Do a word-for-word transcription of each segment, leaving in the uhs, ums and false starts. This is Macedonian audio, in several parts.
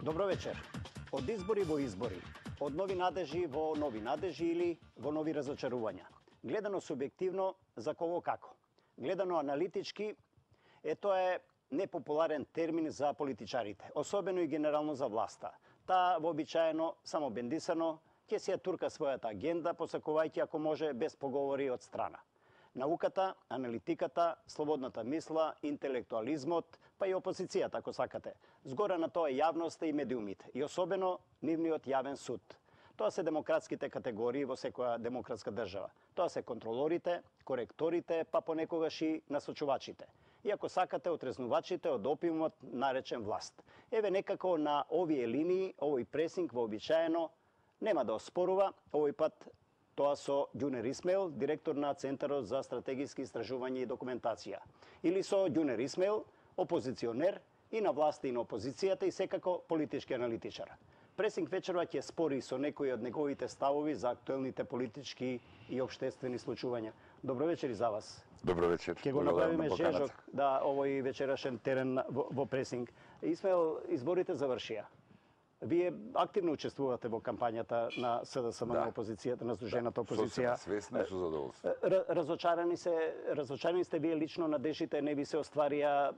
Добро вечер. Од избори во избори, од нови надежи во нови надежи или во нови разочарувања. Гледано субјективно, за кого како. Гледано аналитички, е тоа е непопуларен термин за политичарите, особено и генерално за власта. Таа вообичаено, само бендисано, ќе си ја турка својата агенда, посакувајќи ако може без поговори од страна. Науката, аналитиката, слободната мисла, интелектуализмот, па и опозицијата, ако сакате. Згора на тоа јавноста и медиумите, и особено нивниот јавен суд. Тоа се демократските категории во секоја демократска држава. Тоа се контролорите, коректорите, па понекогаш и насочувачите. И ако сакате, отрезнувачите од опиумот наречен власт. Еве некако на овие линии, овој пресинг вообичаено нема да оспорува, овој пат тоа со Ѓунер Исмаил, директор на Центарот за стратегиски истражувања и документација. Или со Ѓунер Исмаил, опозиционер и на власта и на опозицијата и секако политички аналитичар. Пресинг вечерва ќе спори со некои од неговите ставови за актуелните политички и општествени случувања. Добро вечер и за вас. Добро вечер. Ќе го направиме жежок да овој вечерашен терен во, во пресинг. Исмаил, изборите завршија. Вие активно учествувате во кампањата на СДСМ, да, на опозицијата, на Сдружената опозиција. Свесно и со задоволство. Разочарани се, разочарани сте вие лично, надежите не ви се остварија,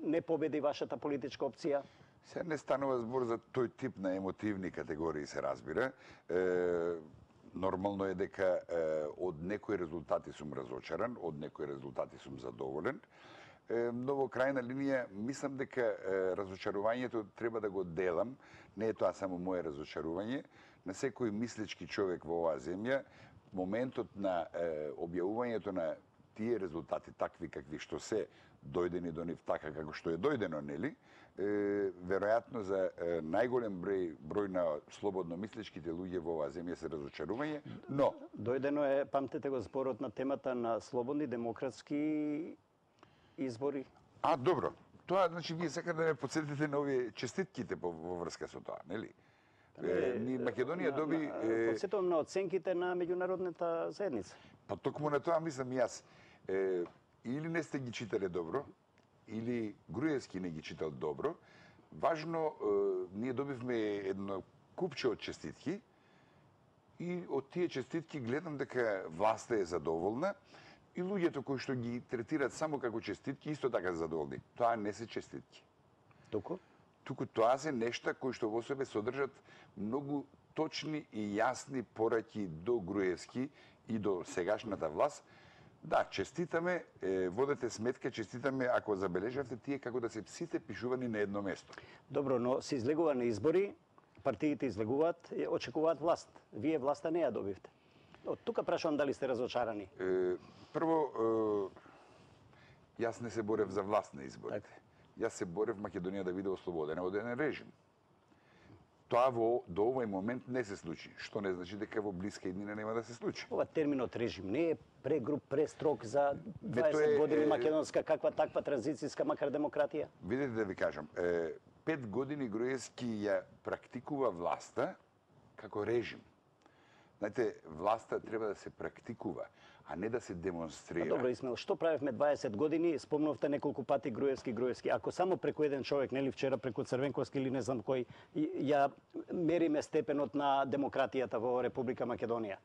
не победи вашата политичка опција? Се не станува збор за тој тип на емотивни категории, се разбира. Е, нормално е дека е, од некои резултати сум разочаран, од некои резултати сум задоволен. Но во крајна линија, мислам дека е, разочарувањето треба да го делам, не е тоа само моје разочарување, на секој мислички човек во оваа земја, моментот на е, објавувањето на тие резултати, такви какви што се дојдени до нив, така како што е дојдено, нели, е, веројатно за е, најголем број, број на слободно мисличките луѓе во оваа земја се разочарување, но... Дојдено е, памтете го, зборот на темата на слободни демократски избори. А, добро. Тоа, значи, вие сакате да ме подсетите на овие честитките во, во врска со тоа, нели? Е, ни Македонија доби... Е... Подсетувам на оценките на меѓународната заедница. Па токму на тоа мислам и јас. Е, или не сте ги читале добро, или Груевски не ги читал добро. Важно, е, ние добивме едно купче од честитки и од тие честитки гледам дека власта е задоволна, и луѓето кои што ги третираат само како честитки, исто така задоволни. Тоа не се честитки. Туку? Туку тоа се нешта кои што во себе содржат многу точни и јасни пораки до Груевски и до сегашната власт. Да, честитаме, е, водете сметка, честитаме, ако забележавте, тие како да се сите пишувани на едно место. Добро, но се излегува на избори, партиите излегуваат, очекуваат власт. Вие власта не ја добивте. Од тука прашувам дали сте разочарани. Е, прво, е, јас не се борев за власт на изборите. Так. Јас се борев Македонија да биде ослободена од еден режим. Тоа во, до овој момент не се случи, што не значи дека во блиска иднина нема да се случи. Ова терминот режим не е прегруп, престрог за дваесет е, години е, македонска каква таква транзицијска макар демократија? Видете да ви кажам, е, пет години Груевски ја практикува власта како режим. Знаете, власта треба да се практикува, а не да се демонстрира. А добро, Исмаил, што правевме дваесет години? Спомнувте неколку пати Груевски, Груевски. Ако само преку еден човек, нели вчера преку Црвенковски или не знам кој, ја мериме степенот на демократијата во Република Македонија.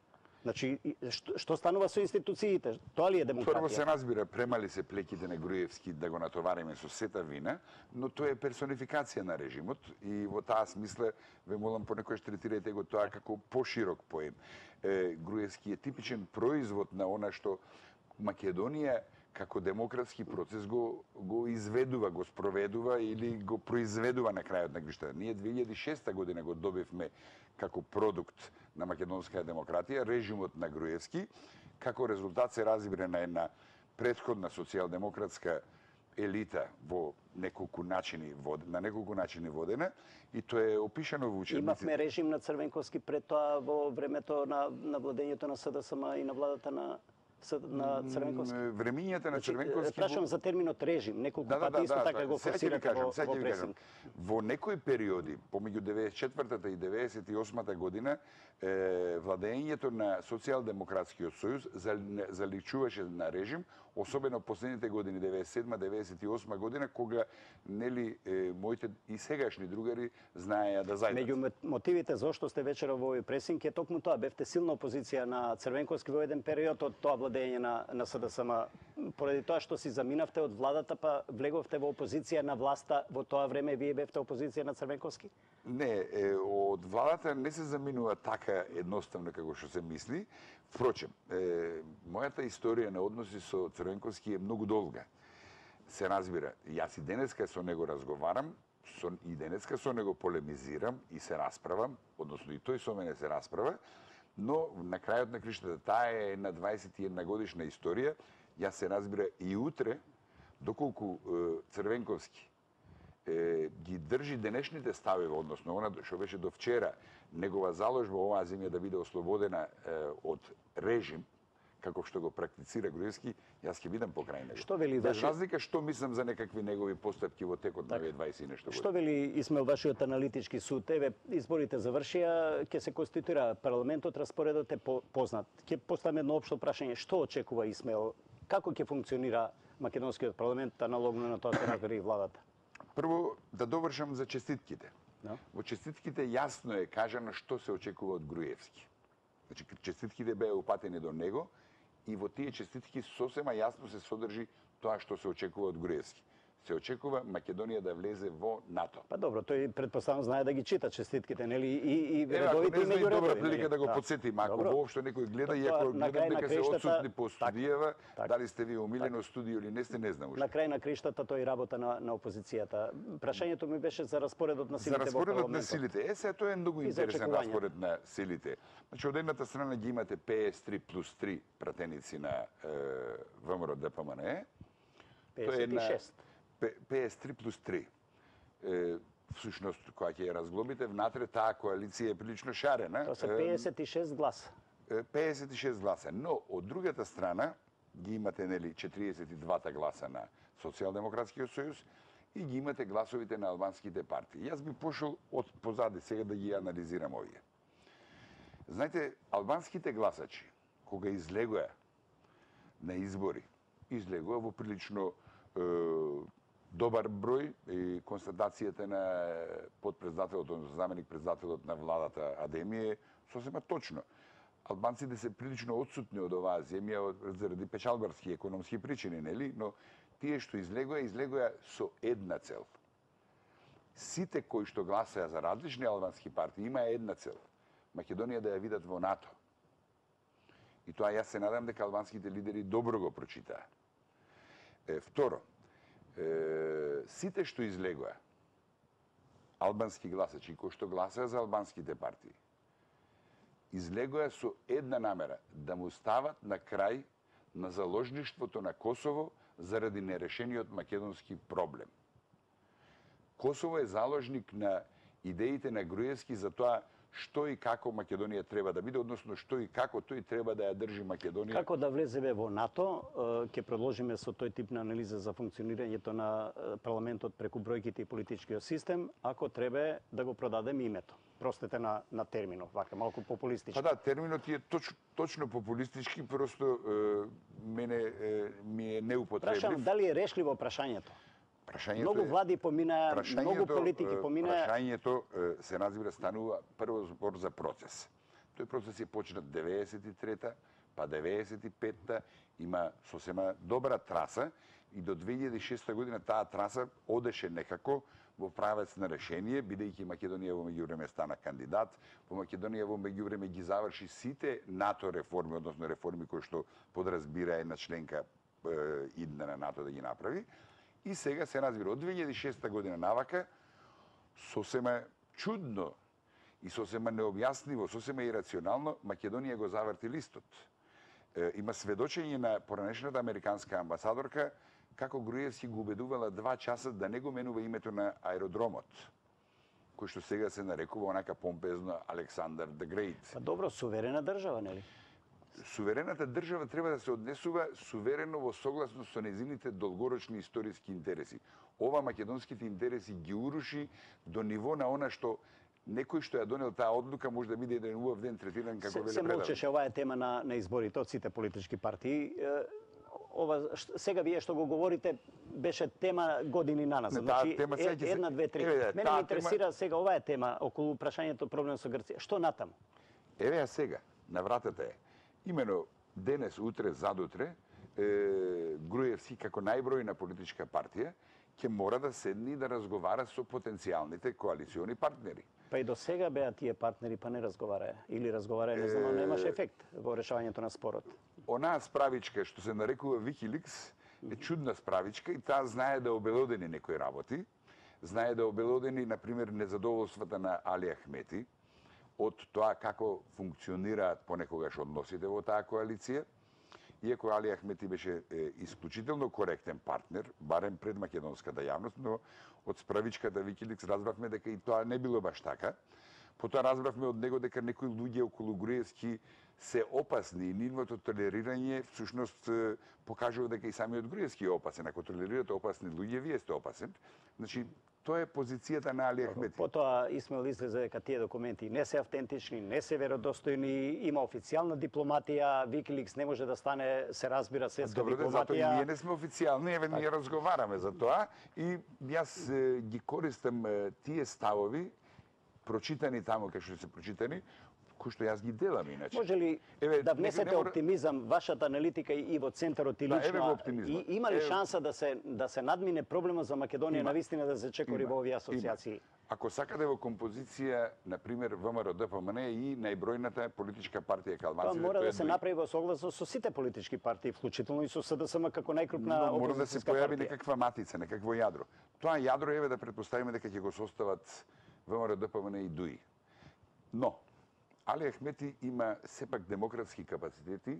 Значи, што, што станува со институциите? Тоа ли е демократија? Прво се разбира, премали се плеките на Груевски да го натовариме со сета вина, но тоа е персонификација на режимот и во таа смисла ве молам понекогаш третирајте го тоа како поширок поем. Е, Груевски е типичен производ на она што Македонија како демократски процес го, го изведува, го спроведува или го произведува на крајот на гвишта. Ние две илјади и шеста година го добивме како продукт на македонска демократија, режимот на Груевски, како резултат се разбира на една претходна социјалдемократска елита во неколку начини на неколку начини водена и тоа е опишано во учебниците. Имавме режим на Црвенковски пред тоа во времето на, на владењето на СДСМ и на владата на на Црвенковски? Времињата на Значи, Црвенковски... прашувам за терминот режим, неколку Да, да, пати да, исто да, така да. го Сега ќе ви форсирате кажам, во, сега во ќе ви кажам. пресинг. Во некои периоди, помеѓу деветдесет и четвртата и деветдесет и осмата година, е, владењето на Социјалдемократскиот сојуз заличуваше на режим, особено последните години, деветдесет и седма деветдесет и осма година, кога нели е, моите и сегашни другари знаеа да зајдат. Меѓу мотивите зошто сте вечера во овој пресинг е токму тоа, бевте силна опозиција на Црвенковски во еден период од тоа владење на, на СДСМ. Поради тоа што си заминавте од владата, па влеговте во опозиција на власта, во тоа време вие бевте опозиција на Црвенковски? Не, е, од владата не се заминува така едноставно како што се мисли. Впрочем, е, мојата историја на односи со Црвенковски е многу долга. Се разбира, јас и денеска со него разговарам, со, и денеска со него полемизирам и се расправам, односно и тој со мене се расправа, но на крајот на криштата таа е една дваесет и една годишна историја. Јас се разбира и утре, доколку е, Црвенковски е, ги држи денешните стави, односно она што беше до вчера, негова заложба оваа земја да биде ослободена е, од режим, како што го практицира Груевски, јас ќе бидам покрај него. Што вели Без ваши... разлика што мислам за некакви негови постапки во текот на овие дваесет и нешто години. Што вели Исмел вашиот аналитички суд? Еве, изборите завршија, ќе се конституира парламентот, распоредот е познат. Ќе поставам едно општо прашање, што очекува Исмел? Како ќе функционира македонскиот парламент аналогно на тоа што направи владата? Прво, да довршам за честитките. Да. Во честитките јасно е кажано што се очекува од Груевски. Значи, честитките беа упатени до него и во тие честитки сосема јасно се содржи тоа што се очекува од Груевски. Се очекува Македонија да влезе во НАТО. Па добро, тој предпоставам знае да ги чита честитките, нели, и, и Еве, редовите и ако не меѓу знае, добра редови. прилика да го Да. подсетим, ако Добро. воопшто некој гледа и Тоа, ако на крај гледам на дека се краиштата, одсутни по так, студијава, так. дали сте ви омилено студио или не сте, не знам уште. На крај на криштата тој работа на, на опозицијата. Прашањето ми беше за распоредот на За силите во распоредот на парламентот. силите. Е, сега тоа е многу И за интересен очекувањата. распоред на силите. Значи, од едната страна ги имате П С три плюс три пратеници на е, ВМРО Д П М Н Е. педесет и шест. П С три плюс три. Е, всушност, кога ќе ја разглобите, внатре таа коалиција е прилично шарена. Тоа се Е, педесет и шест гласа. е, педесет и шест гласа. Но, од другата страна, ги имате, нели, четириесет и два гласа на Социјалдемократскиот сојуз и ги имате гласовите на албанските партии. Јас би пошол од позади сега да ги анализирам овие. Знаете, албанските гласачи, кога излегоа на избори, излегоа во прилично е, добар број и констатацијата на подпредседателот, одnosno заменик председателот на владата Адеми е сосема точно. Албанците се прилично отсутни од оваа земја заради печалбарски економски причини, нели? Но тие што излегоа, излегоа со една цел. Сите кои што гласаа за различни албански партии имаа една цел. Македонија да ја видат во НАТО. И тоа јас се надам дека албанските лидери добро го прочитаа. Е, второ, е, сите што излегоа албански гласачи кои што гласаа за албанските партии, излегоа со една намера да му стават на крај на заложништвото на Косово заради нерешениот македонски проблем. Косово е заложник на идеите на Груевски за тоа што и како Македонија треба да биде, односно што и како тој треба да ја држи Македонија. Како да влеземе во НАТО, ќе продолжиме со тој тип на анализа за функционирањето на парламентот преку бројките и политичкиот систем, ако треба да го продадеме името. Простете на, на терминов, вака, малку популистички. Па да, терминот е точ, точно популистички, просто е, мене е, ми е неупотреблив. Прашам, дали е решливо прашањето? Прашањето Многу е, влади поминаа, многу политики поминаа. Прашањето е, се разбира станува прво збор за процес. Тој процес е почнат деветдесет и трета, па деветдесет и петта, има сосема добра траса и до две илјади и шеста година таа траса одеше некако во правец на решение, бидејќи Македонија во меѓувреме стана кандидат, во Македонија во меѓувреме ги заврши сите НАТО реформи, односно реформи кои што подразбира една членка е, идна на НАТО да ги направи. И сега се разбира, од две илјади и шеста година навака, сосема чудно и сосема необјаснливо, сосема ирационално, Македонија го заврти листот. Е, има сведочење на поранешната американска амбасадорка како Груевски го убедувала два часа да не го менува името на аеродромот, кој што сега се нарекува онака помпезно Александар the Great. Па добро, суверена држава, нели? Суверената држава треба да се однесува суверено во согласност со незините долгорочни историски интереси. Ова македонските интереси ги уруши до ниво на она што некој што ја донел таа одлука може да биде еден убав ден третиран како веле се молчеше, ова е тема на, на изборите од сите политички партии. Ова, сега вие што го говорите, беше тема години наназад. Значи, тема е, една, две, три. Еве, Мене ме интересира тема... сега, ова е тема околу прашањето проблем со Грција. Што натаму? Еве ја сега, на вратата е. Имено денес, утре, задутре, е, Груевски како најбројна политичка партија ќе мора да седне и да разговара со потенцијалните коалициони партнери. Па и до сега беа тие партнери, па не разговараа. Или разговараа, не знам, немаше ефект во решавањето на спорот. Онаа справичка што се нарекува Wikileaks е чудна справичка и таа знае да обелодени некои работи. Знае да обелодени, например, незадоволствата на Али Ахмети од тоа како функционираат понекогаш односите во таа коалиција. Иако Али Ахмети беше е, исклучително коректен партнер, барем пред македонската јавност, но од справичката Wikileaks разбравме дека и тоа не било баш така. Потоа разбравме од него дека некои луѓе околу Груевски се опасни и нивното толерирање всушност покажува дека и самиот Груевски е опасен. Ако толерирате опасни луѓе, вие сте опасен. Значи, тоа е позицијата на Али Ахмети. Потоа Исмаил излезе дека тие документи не се автентични, не се веродостојни, има официјална дипломатија, Wikileaks не може да стане, се разбира, светска Добро, дипломатија. Добро, затоа и ние не сме официјални, еве ние разговараме за тоа и јас е, ги користам е, тие ставови прочитани таму кај што се прочитани, кои што јас ги делам иначе. Може ли еве, да внесете не мора... оптимизам, вашата аналитика и во центарот и лично? Да, еве и, има ли еве... шанса да се да се надмине проблема за Македонија на вистина да се чекори во овие асоциации? Има. Ако сакате во композиција, на пример, ВМРО-ДПМН и најбројната политичка партија калмаците, тоа мора да се направи во согласност со сите политички партии, вклучително и со СДСМ како најкрупна опозицијска партија. Мора да се појави некаква матица, некакво јадро. Тоа јадро еве да претпоставиме дека ќе го состават ВМРО-ДПМН и ДУИ. Но Али Ахмети има сепак демократски капацитети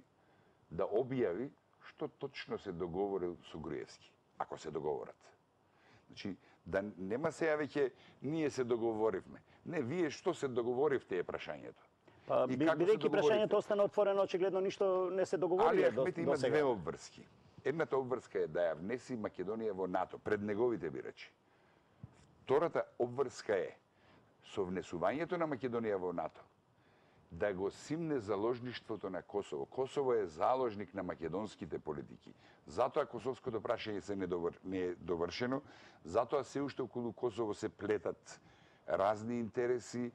да објави што точно се договорил со Груевски, ако се договорат. Значи, да нема сега веќе ние се договоривме. Не, вие што се договоривте е прашањето. Па, бидејќи прашањето остана отворено, очигледно ништо не се договори. Али Ахмети има две обврски. Едната обврска е да ја внеси Македонија во НАТО пред неговите бирачи. Втората обврска е со внесувањето на Македонија во НАТО да го симне заложништвото на Косово. Косово е заложник на македонските политики. Затоа косовското прашање се недовр... не е довршено, затоа се уште околу Косово се плетат разни интереси,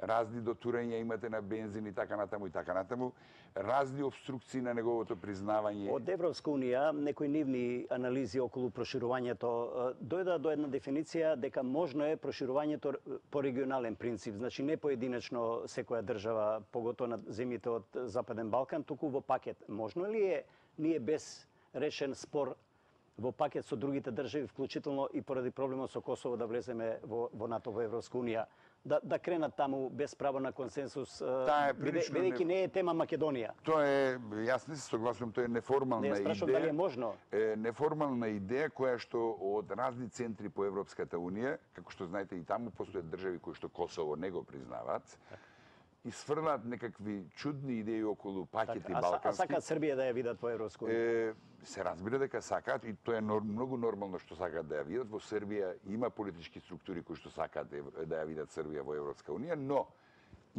разни дотурања имате на бензин и така натаму и така натаму, разни обструкции на неговото признавање. Од Европска унија некои нивни анализи околу проширувањето дојда до една дефиниција дека можно е проширувањето по регионален принцип, значи не поединечно секоја држава, поготоа на земјите од Западен Балкан, туку во пакет. Можно ли е ние без решен спор во пакет со другите држави, вклучително и поради проблемот со Косово, да влеземе во, во НАТО, во Европска унија, да, да кренат таму без право на консенсус, бидејќи не е тема Македонија? Тоа е, јас не се согласувам, тоа е неформална идеја. Не, спрашувам дали е можно. Е неформална идеја која што од разни центри по Европската унија, како што знаете и таму постојат држави кои што Косово не го признаваат, и сврлат некакви чудни идеи околу пакети так, балкански. А сакаат Србија да ја видат во Европска унија? Се разбира дека сакаат и тоа е многу нормално што сакаат да ја видат. Во Србија има политички структури кои што сакаат да ја видат Србија во Европска унија, но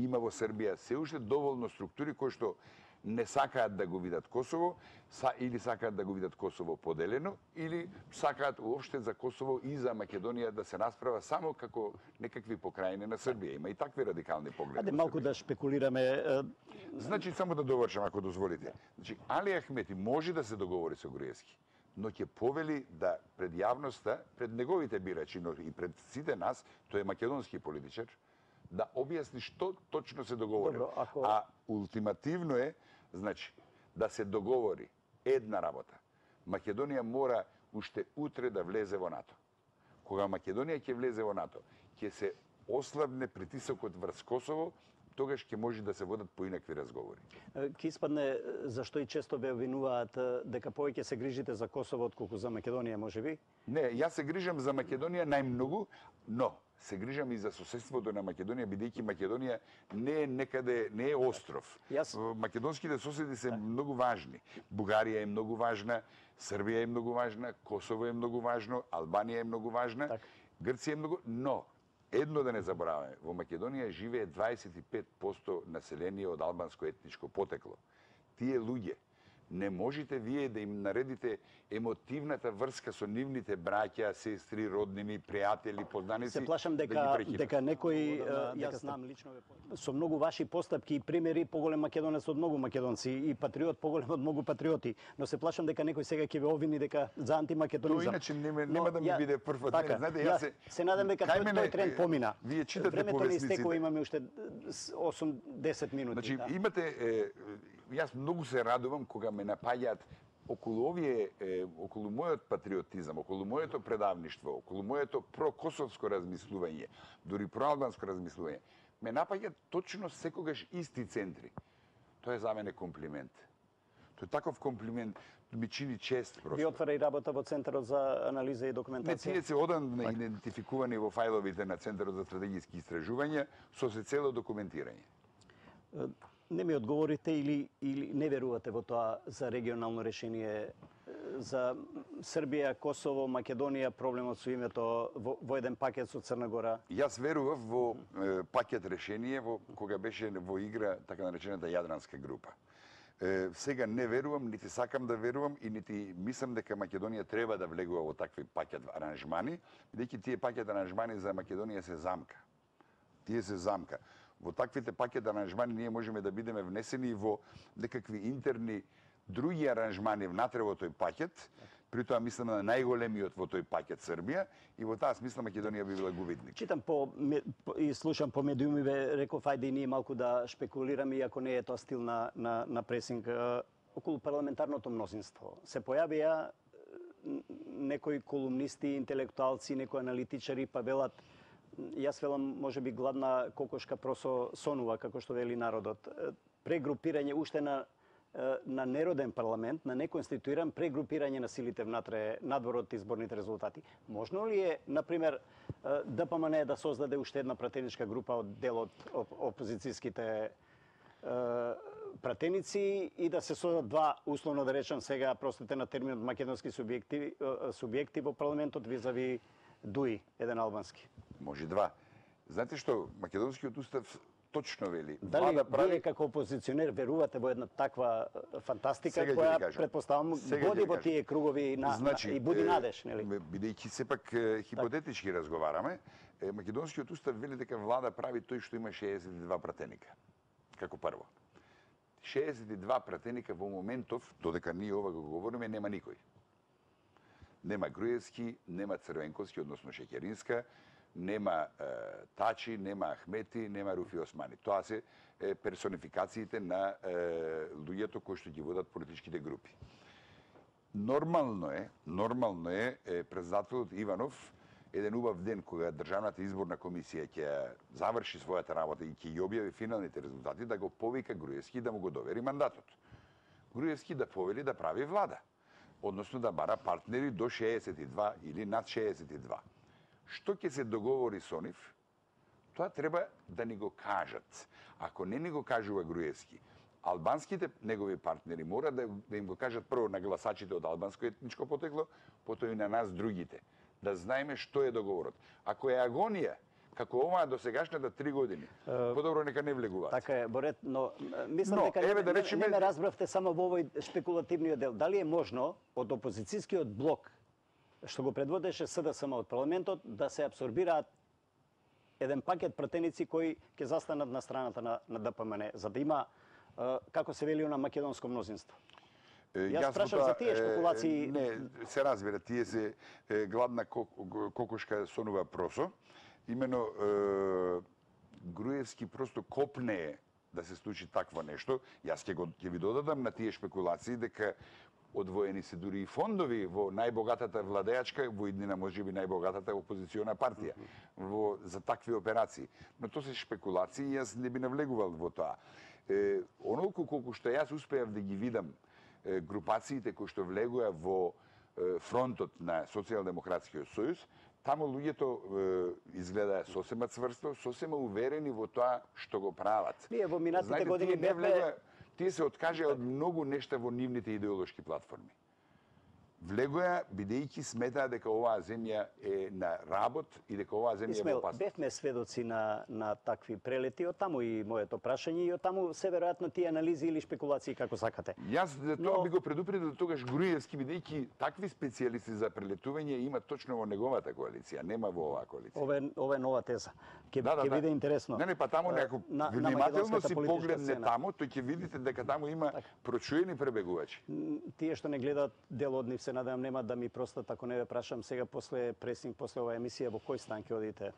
има во Србија се уште доволно структури кои што не сакаат да го видат Косово, са, или сакаат да го видат Косово поделено, или сакаат уопште за Косово и за Македонија да се расправа само како некакви покрајни на Србија. Има и такви радикални погледи. Аде малку да шпекулираме. Значи, само да довршам, ако дозволите. Значи, Али Ахмети може да се договори со Груевски, но ќе повели да пред јавноста, пред неговите бирачи, но и пред сите нас, тој е македонски политичар, да објасни што точно се договори. Добро, ако... А ултимативно е, значи, да се договори една работа. Македонија мора уште утре да влезе во НАТО. Кога Македонија ќе влезе во НАТО, ќе се ослабне притисокот врз Косово, тогаш ќе може да се водат поинакви разговори. Ке испадне зашто и често ве обвинуваат дека повеќе се грижите за Косово отколку за Македонија, можеби? Не, јас се грижам за Македонија најмногу, но се грижам и за соседството на Македонија, бидејќи Македонија не е некаде, не е остров. Јас... Македонските соседи се многу важни. Бугарија е многу важна, Србија е многу важна, Косово е многу важно, Албанија е многу важна, так. Грција е многу... Но, едно да не забораваме, во Македонија живее дваесет и пет проценти население од албанско етничко потекло. Тие луѓе, не можете вие да им наредите емотивната врска со нивните браќа, сестри, роднини, пријатели, познаници. Се плашам дека да дека некој, јас знам лично со многу ваши постапки и примери поголем македонец од многу македонци и патриот поголем од многу патриоти, но се плашам дека некој сега ќе ве обвини дека за антимакедонизам. Но иначе нема, нема да ми ја, биде прв од така, мене. Знаете, јас се се надам дека тој, тој тренд помина. Вие читате Времето повесниците. не истекува, имаме уште осум до десет минути. Значи, да. имате е, јас многу се радувам кога ме напаѓаат околу овие, е, околу мојот патриотизам, околу моето предавништво, околу моето прокосовско размислување, дури проалбанско размислување, ме напаѓаат точно секогаш исти центри. Тоа е за мене комплимент. Тој таков комплимент ми чини чест просто. Ви отвара и работа во Центарот за анализа и документација? Не, тие се одамна идентификувани во фајловите на Центарот за стратегиски истражувања со се цело документирање. Не ми одговорите или, или не верувате во тоа за регионално решение за Србија, Косово, Македонија, проблемот со името во, во еден пакет со Црна Гора? Јас верував во е, пакет решение во кога беше во игра така наречената Јадранска група. Е, сега не верувам, нити сакам да верувам и нити мислам дека Македонија треба да влегува во такви пакет аранжмани, бидејќи тие пакет аранжмани за Македонија се замка. Тие се замка. Во таквите пакет аранжмани ние можеме да бидеме внесени во некакви интерни други аранжмани внатре во тој пакет, при тоа мислам на најголемиот во тој пакет Србија и во таа смисла Македонија би била губитник. Читам по и слушам по медиумиве, реков ајде и ние малку да шпекулираме, иако не е тоа стил на на на пресинг околу парламентарното мнозинство. Се појавија некои колумнисти, интелектуалци, некои аналитичари па велат јас велам можеби гладна кокошка просо сонува, како што вели народот. Прегрупирање уште на на нероден парламент, на неконституиран прегрупирање на силите внатре надвор од изборните резултати. Можно ли е, например, ДПМН да создаде уште една пратеничка група од дел од опозицијските пратеници и да се создадат два, условно да речам сега, простите на терминот, македонски субјекти, субјекти во парламентот визави ДУИ, еден албански? Може два. Знаете што, македонскиот устав точно вели. Дали влада прави... вие како опозиционер верувате во една таква фантастика сега која предпоставам води во тие кругови на, значи, на, и буди надеж, нели? Бидејќи сепак хипотетички так. разговараме, македонскиот устав вели дека влада прави тој што има шеесет и два пратеника. Како прво. шеесет и два пратеника во моментов, додека ние ова го говориме, нема никој. Нема Груевски, нема Црвенковски, односно Шеќеринска, нема е, Тачи, нема Ахмети, нема Руфи Османи. Тоа се е, персонификациите на е, луѓето кои што ги водат политичките групи. Нормално е, нормално е, е председателот Иванов еден убав ден кога Државната изборна комисија ќе заврши својата работа и ќе ја објави финалните резултати, да го повика Груевски да му го довери мандатот. Груевски да повели да прави влада, односно да бара партнери до шеесет и два или над шеесет и два. Што ќе се договори со нив, тоа треба да ни го кажат. Ако не ни го кажува Груевски, албанските негови партнери мора да, да им го кажат прво на гласачите од албанско етничко потекло, потоа и на нас другите, да знаеме што е договорот. Ако е агонија, како оваа до сегашната три години, подобро нека не влегуваат. Така е, Борет, но мислам но, дека еве, не, да речеме... не ме разбравте само во овој шпекулативниот дел. Дали е можно од опозицијскиот блок што го предводеше СДСМ од парламентот, да се абсорбираат еден пакет пратеници кои ќе застанат на страната на, на ДПМН, за да има, како се вели, на македонско мнозинство. Јас прашав за тие шпекулации. Не, се разбира, тие се е, гладна кокошка сонува просо. Имено, е, Груевски просто копне да се случи такво нешто. Јас ќе, го, ќе ви додадам на тие шпекулации дека одвоени се дури и фондови во најбогатата владеачка, во иднина можеби најбогатата опозициона партија, во, за такви операции. Но тоа се шпекулации и јас не би навлегувал во тоа. Е, онолку колку што јас успеав да ги видам е, групациите кои што влегуа во е, фронтот на Социјалдемократскиот сојуз, таму луѓето е, изгледа сосема цврсто, сосема уверени во тоа што го прават. Ние во минатите Знаете, години тие не бевме... влегоа, тие се откажаа од многу нешта во нивните идеолошки платформи. Влегоа бидејќи сметаа дека оваа земја е на работ и дека оваа земја е во опасност. Бевме сведоци на, на такви прелети, од таму и моето прашање, и од таму се веројатно тие анализи или шпекулации како сакате. Јас за тоа Но... би го предупредил тогаш Груевски, бидејќи такви специјалисти за прелетување има точно во неговата коалиција, нема во оваа коалиција. Ова, ова е нова теза. Ке, Да, да, ке да. биде интересно. Не, не, па таму некако на, внимателно на си погледне таму, тој ќе видите дека таму има така. прочуени пребегувачи. Тие што не гледаат, дел од нив се надевам нема да ми простат ако не ве прашам сега после пресинг, после оваа емисија, во кој стан ќе одите?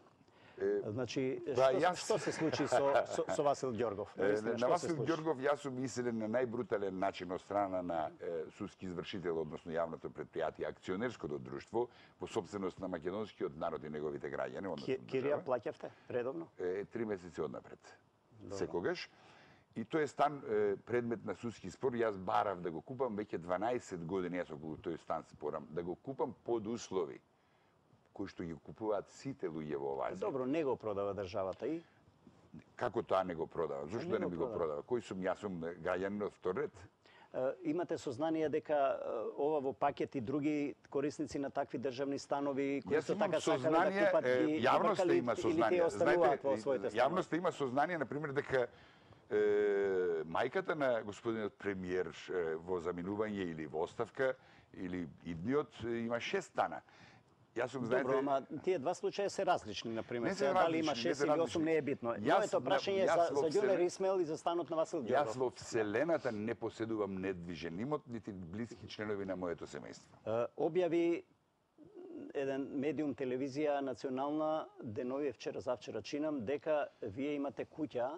Е, Значи, да, што, јас... што се случи со, со, со Васил Ѓоргов? Е, Навистина, на што се Васил случи? Ѓоргов јас сум исилен на најбрутален начин од страна на е, судски извршител, односно јавното предпријатие, акционерското друштво, во собственост на македонскиот народ и неговите граѓани, односно Кирија плаќавте редовно? Е, три месеци однапред. Секогаш. И тој е стан е, предмет на судски спор. Јас барав да го купам веќе дванаесет години, јас околу тој стан спорам, да го купам под услови кои што ги купуваат сите луѓе во оваа земја. Добро, не го продава државата и? Како тоа не го продава? Зошто Не да не го би го продава. продава? Кој сум? Јас сум граѓанин од втор ред. Е, Имате сознание дека е, ова во пакет и други корисници на такви државни станови кои Јас што имам така сакале да сознание, купат е, ги јавноста бркали има или сознание. тие остануваат Знаете, во своите станови? јавноста има сознание, например, дека е, мајката на господинот премиер е, во заминување или во оставка или идниот е, има шест стана. Јас сум, знаете... Добро, ама тие два случаи се различни, например. Не се Сега, дали има различни, не шест се или различни. осум не е битно. Јас- Моето прашање е јас за, во за Ѓулер Вселен- Исмел и за станот на Васил Јас Ѓоргов. во Вселената не поседувам недвижен имот, нити блиски членови на моето семејство. Е, Објави еден медиум телевизија национална денови вчера завчера чинам дека вие имате куќа.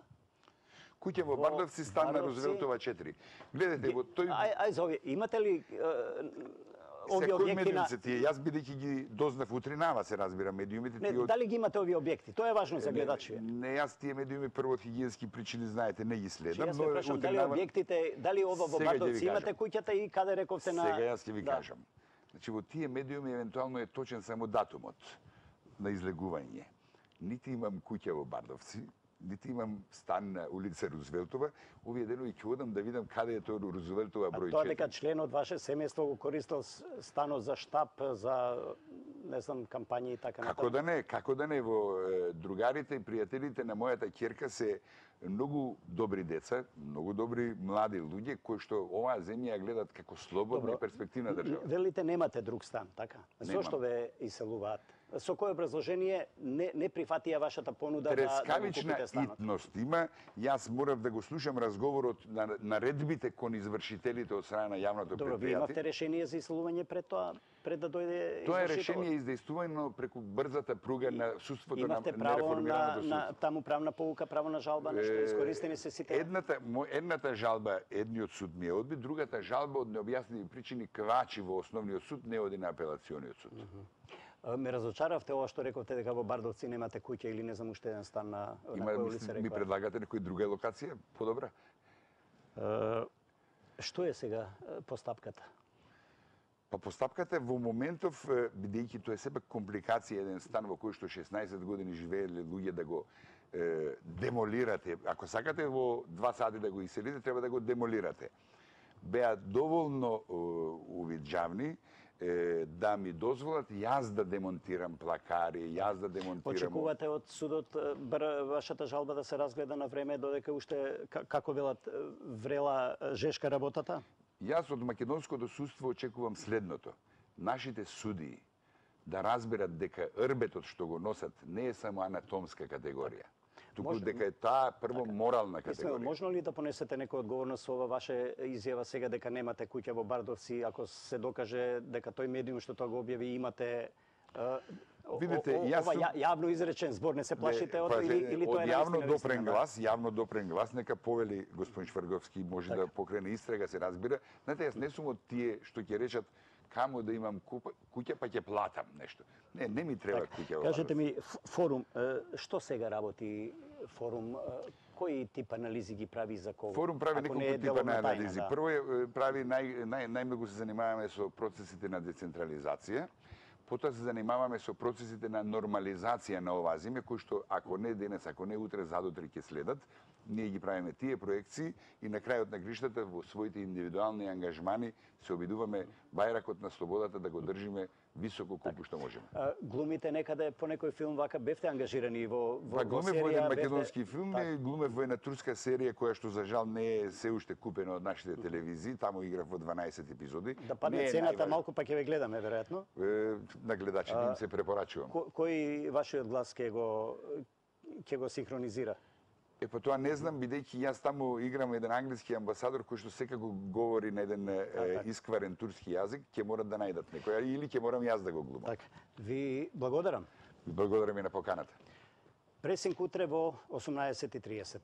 Куќа во Во Бардовци, стан на Бардовци- Рузвелтова четири. Гледате, во тој... Ај, ај за овие, имате ли е, овие Секој објекти медиум на... се тие, јас бидејќи ги дознав утринава, се разбира, медиумите Не, тие од... дали ги имате овие објекти? Тоа е важно за гледачите. Не, јас тие медиуми прво од хигиенски причини, знаете, не ги следам, Јас ве прашам дали утринава- објектите, дали ова во Сега ќе ви Бардовци имате кажам. куќата и каде рековте на... Сега јас ќе ви Да. кажам. Значи, во тие медиуми евентуално е точен само датумот на излегување. Нити имам куќа во Бардовци, нити имам стан на улица Рузвелтова. Овие денови ќе одам да видам каде е тоа Рузвелтова А број тоа четири. дека член од ваше семејство го користел с- станот за штаб, за не знам кампањи и така Како да не, како да не, во е, другарите и пријателите на мојата ќерка се многу добри деца, многу добри млади луѓе кои што оваа земја ја гледат како слободна и перспективна држава. Велите немате друг стан, така? Немам. Зошто ве иселуваат? Со кое образложение не, не прифатија вашата понуда да, да го Трескавична купите станот? итност има. Јас морав да го слушам разговорот на наредбите кон извршителите од страна на јавното Добро, вие имавте предпријатие. решение за иселување пред тоа, пред да дојде Тоа е извршителот? решение издействувано преку брзата пруга на судството на Имавте право на, нереформираното на судство. таму правна полука, право на жалба, нешто Е, искористени се сите. Едната, мо- едната жалба, едниот суд ми ја одби, другата жалба од необјаснети причини квачи во основниот суд, не оди на апелациониот суд. А, Ме разочаравте ова што рековте дека во Бардовци немате куќа или не знам уште еден стан на, на Има, која мисли, улица ми рекоа. предлагате некоја друга локација, подобра? Е, Што е сега е, постапката? Па постапката е во моментов, е, бидејќи тоа е сепак компликација, еден стан во кој што шеснаесет години живееле луѓе да го е, демолирате. Ако сакате во два сати да го иселите, треба да го демолирате. Беа доволно е, увиджавни е, да ми дозволат јас да демонтирам плакари, јас да демонтирам... Очекувате од судот е, бр- вашата жалба да се разгледа на време додека уште ка- како велат е, врела е, жешка работата? Јас од македонското судство очекувам следното. Нашите судии да разберат дека рбетот што го носат не е само анатомска категорија, туку Може- дека е таа прво морална Исмел, категорија. можно ли да понесете некоја одговорност со ова ваше изјава сега дека немате куќа во Бардовци, ако се докаже дека тој медиум што тоа го објави имате е, о- Видите, о- јас ова сум- ја- јавно изречен збор, не се плашите Не, од па, или, или тоа е од јавно навистина допрен вистина, да? глас, јавно допрен глас, нека повели господин Шварговски, може Така. да покрене истрага, се разбира. Знаете, јас не сум од тие што ќе речат каму да имам купа, куќа па ќе платам нешто. Не, не ми треба куќа во Кажете Бардовци. ми, ф- форум, е, што сега работи форум, е, кои тип анализи ги прави за кого? Форум прави Ако не неколку е типа деловна на тајна, анализи. да. Прво е, е, прави нај, нај, најмногу се занимаваме со процесите на децентрализација. Потоа се занимаваме со процесите на нормализација на оваа земја, кои што ако не денес, ако не утре, задутре ќе следат. Ние ги правиме тие проекции и на крајот на гриштата во своите индивидуални ангажмани се обидуваме бајракот на слободата да го држиме високо колку што можеме. А, глумите некаде по некој филм вака бевте ангажирани во во, Па во глумев серија, во еден бевте- македонски филм, Так. глумев во една турска серија која што за жал не е се уште купена од нашите телевизии, таму играв во дванаесет епизоди. Да падне Не е цената најважно. малку па ќе ве гледаме веројатно. Е, на гледачите им се препорачувам. Ко, кој вашиот глас ќе го ќе го синхронизира? Е, па тоа не знам, бидејќи јас таму играм еден англиски амбасадор кој што секако говори на еден е, така. искварен турски јазик, ќе морат да најдат некој, или ќе морам јас да го глумам. Така. Ви благодарам. Благодарам и на поканата. Пресинг утре во осумнаесет и триесет.